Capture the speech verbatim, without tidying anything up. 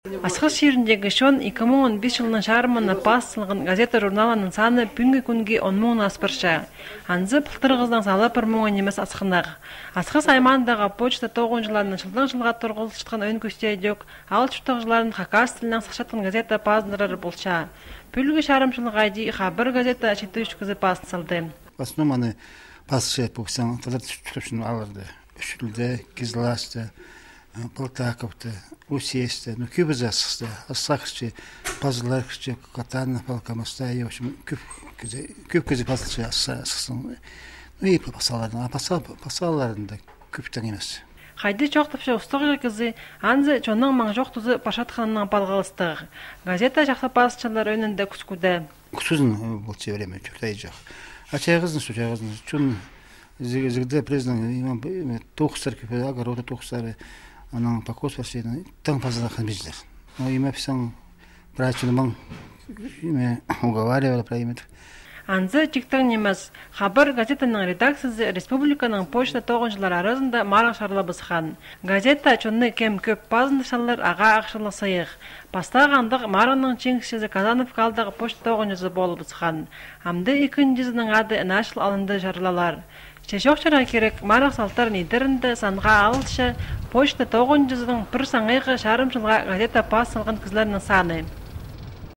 Асхас ширіндегі шон эки миң он беш жылының шарымына басылған газета журналының саны бүгінгі күнге он мыңнан аспырша. Анзы пылтырғыздан салы бір мыңын немес асқынақ. Асхас аймандағы почта тоғынжыларының жылдан жылға тұрғылышытқан өн көстейдек, ал чүптіғжыларын хакас тілінен сақшатқан газета пазындырыр болша. Пүлгі шарымшылық айди хабар газета шетті үшкізі пасын салды. В основном они пасы поксан, тогда чүптіғшын алырды. Үшілді, Кизлашты, Полтаковты, Усесті, ну көбі жасықты, Асақшты, Пазыларқшты, Катаны, Палкамастай, в общем, көп көзі пазылшы асықсын. Ну и пасалардың, а пасаларында көптен емес. Қайды жоқтыпшы ұстығы кізі, анзы чонның маң жоқ тұзы Пашатханның балғалыстығы. Газета жақсы пасычалар önünde күскуді. Күсізін бұл чевреме, чөктай жақ. Ачайғыздың, сөчайғыздың, чон зігді президент, тоқыстар көпеді, агороты тоқыстары, анан покос варсейдің, таң пазалақын бездер. Но име писаң, прачыны маң, име уговаривали про име. Анзы чиктен немес, хабар газетаның редакциясы республиканың почта тоғыншылар арасында марық шарлабысқан. Газета чонны кем көп пазындышалар аға ақшылы сайық. Пастағандық марының чеңкшізі Казанов қалдағы почта тоғыншысы болып бысқан. Амды екіншізінің ады нашыл алынды жарлалар. Шешоқшыра керек марық салтар нидерінді санға алышы почта тоғыншысының бір саңайғы шарым жылға газета пас салған кізлерінің саны.